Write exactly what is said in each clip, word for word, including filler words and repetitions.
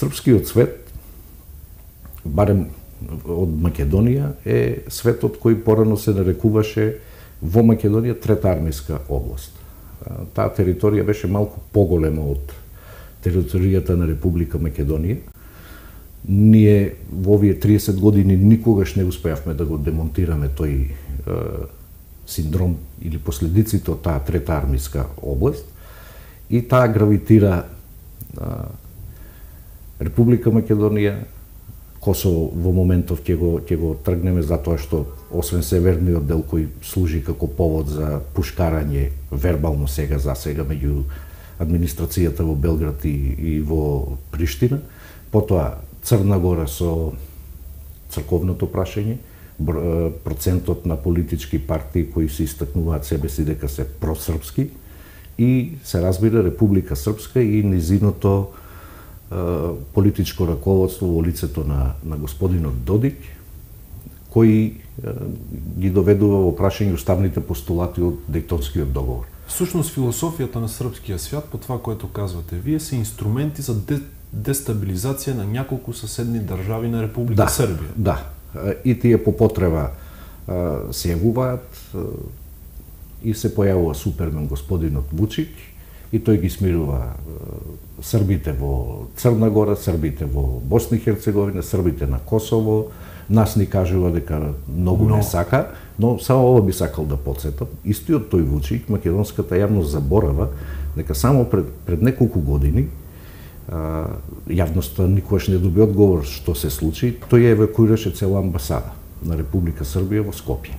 Српскиот свет, барем од Македонија, е светот кој порано се нарекуваше во Македонија трета армиска област. Таа територија беше малку поголема од територијата на Република Македонија. Ние во овие триесет години никогаш не успеавме да го демонтираме тој е, синдром или последиците од таа трета армиска област, и таа гравитира е, Република Македонија, Косово во моментов ќе го ќе го тргнеме, затоа што освен северниот дел кој служи како повод за пушкарање вербално сега за сега меѓу администрацијата во Белград и, и во Приштина, потоа Црна Гора со црковното прашање, процентот на политички партии кои се истакнуваат себе си дека се просрпски, и се разбира Република Српска и низиното политичко раководство во лицето на, на господинот Додик, кој ги доведува во прашање уставните постулати од Дејтонскиот договор. Всушност философијата на српскиот свят, по това което казвате вие, се инструменти за де, дестабилизација на няколку соседни држави на Република да, Србија. Да, и тие по потреба се јавуваат и се појавува супермен господинот Вучич, и тој ги смирува србите во Црна Гора, србите во Босна и Херцеговина, србите на Косово. Нас ни кажува дека многу но... не сака, но само ова би сакал да потсетам. Истиот тој Вучич, македонската јавност заборава дека само пред, пред неколку години, а, јавноста никогаш не доби одговор што се случи, тој евакуираше цела амбасада на Република Србија во Скопје.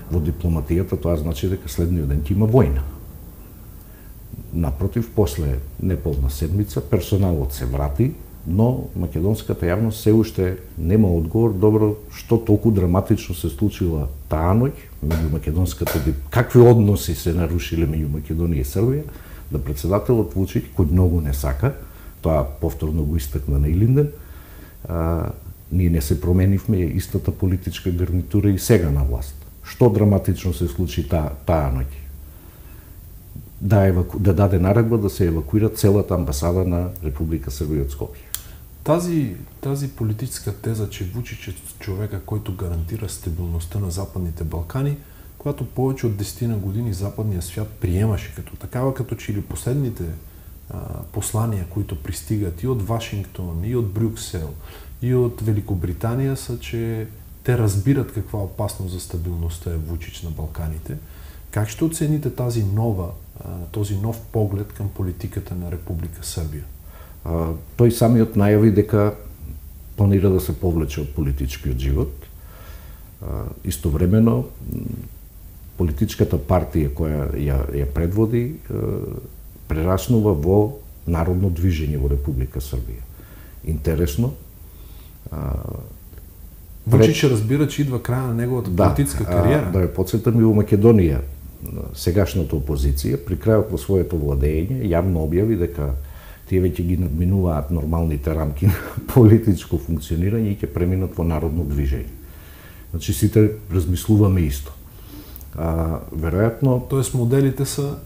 Во дипломатијата тоа значи дека следниот ден ќе има војна. Напротив, после неполна седмица, персоналот се врати, но македонската јавност се уште нема одговор добро што толку драматично се случила таа ноќ меѓу македонската, какви односи се нарушиле меѓу Македонија и Србија, да председателот Вучич, кој многу не сака, тоа повторно го истакна на Илинден, а, ние не се променивме, истата политичка гарнитура и сега на власт. Што драматично се случи таа таа ноќ? Да, еваку... да даде наредба да се евакуира целата амбасада на Република Србија од Скопје. Тази, тази политическа теза, че Вучич е човека който гарантира стабилността на Западните Балкани, която повече от десет години западният свят приемаше като такава, като че ли последните а, послания, които пристигат и от Вашингтон, и от Брюксел, и от Великобритания, са, че те разбират каква опасност за стабилността е Вучич на Балканите. Как ще оцените тази нова, този нов поглед към политиката на Република Србија? А, тој самиот најави дека планира да се повлече од политичкиот живот. А, истовремено, политичката партија која ја, ја предводи прераснува во народно движење во Република Србија. Интересно. А, Вучич пред... разбира, че идва краја на неговата да, политическа кариера. А, да ја подсетам и во Македонија, сегашната опозиција, при крајот на своето владење, јавно објави дека тие веќе ги надминуваат нормалните рамки на политичко функционирање и ќе преминат во народно движење. Значи, сите размислуваме исто. А, веројатно... Тоест моделите са...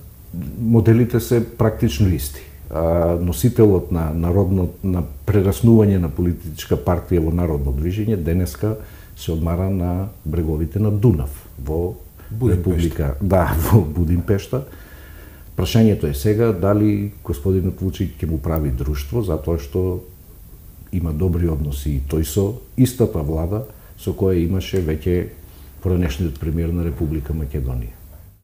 Моделите се практично исти. А, носителот на народно, на прераснување на политичка партија во народно движење денеска се одмара на бреговите на Дунав, во Република, да, во Будимпешта. Прашањето е сега дали господинот Вучич ќе му прави друштво, затоа што има добри односи и тој со истата влада со која имаше веќе поранешниот премиер на Република Македонија.